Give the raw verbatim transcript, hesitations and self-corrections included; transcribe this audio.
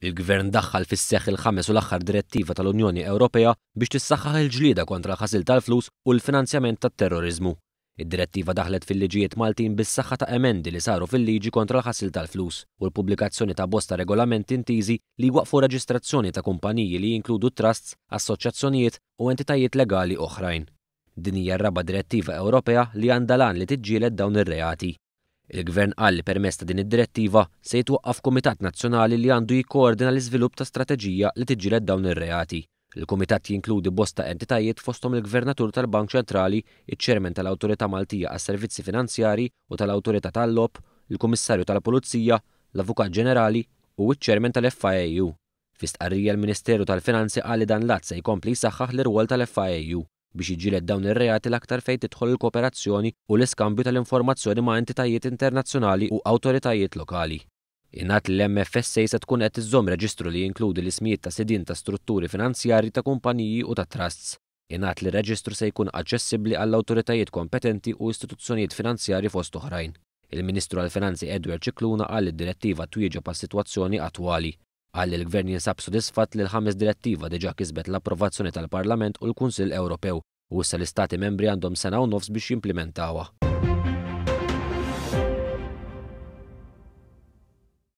Il-Gvern daħħal fis-seħħ il-ħames u l-aħħar direttiva tal-Unjoni Ewropea biex tissaħħaħ il-ġlieda kontra l-ħasil tal-flus u l-finanzjament tat-terroriżmu. Id-direttiva daħlet fil-liġijiet Maltin bis-saħħa ta' emendi li saru fil-liġi kontra l-ħasil tal-flus u l-pubblikazzjoni ta' bosta regolamenti intiżi li jwaqfu reġistrazzjoni ta' kumpaniji li jinkludu trusts, assoċjazzjonijiet u entitajiet legali oħrajn. Din hija r-raba' direttiva Ewropea li għandha l-għan li tiġġieled dawn ir-reati. Il-Gvern qal li permezz ta' din id-direttiva se jitwaqqaf Kumitat Nazzjonali li għandu jikkoordina l-iżvilupp ta' strateġija li tiġġieled dawn ir-reati. Il-Kumitat jinkludi bosta entitajiet fosthom il-Gvernatur tal-Bank Ċentrali, iċ-Chairman tal-Awtorità Maltija għas-Servizzi Finanzjarji u tal-Awtorità tal-Logħob, il-Kummissarju tal-Pulizija, l-Avukat Ġenerali u ċ-Chairman tal-F I A U. Fi stqarrija, l-Ministeru tal-Finanzi qal li dan l-att se jkompli jsaħħaħ l-irwol tal-F I A U biex jiġġieled dawn ir-reati, l-aktar fejn tidħol il-kooperazzjoni u l-iskambju tal-informazzjoni ma' entitajiet internazzjonali u awtoritajiet lokali. Ingħad li l-M F S A se tkun qed iżżomm reġistru li jinkludi l-ismijiet ta' sidien ta' strutturi finanzjarji, ta' kumpaniji u ta' trusts. Ingħad li r-reġistru se jkun aċċessibbli għall-awtoritajiet kompetenti u istituzzjonijiet finanzjarji, fost oħrajn. Il-Ministru għall-Finanzi Edward Scicluna qal li d-direttiva twieġeb għas-sitwazzjoni attwali. Qal li l-Gvern jinsab sodisfatt li l-ħames direttiva diġà kisbet l-approvazzjoni tal-Parlament u l-Kunsill Ewropew u issa l-Istati membri għandhom sena u nofs biex jimplementawha.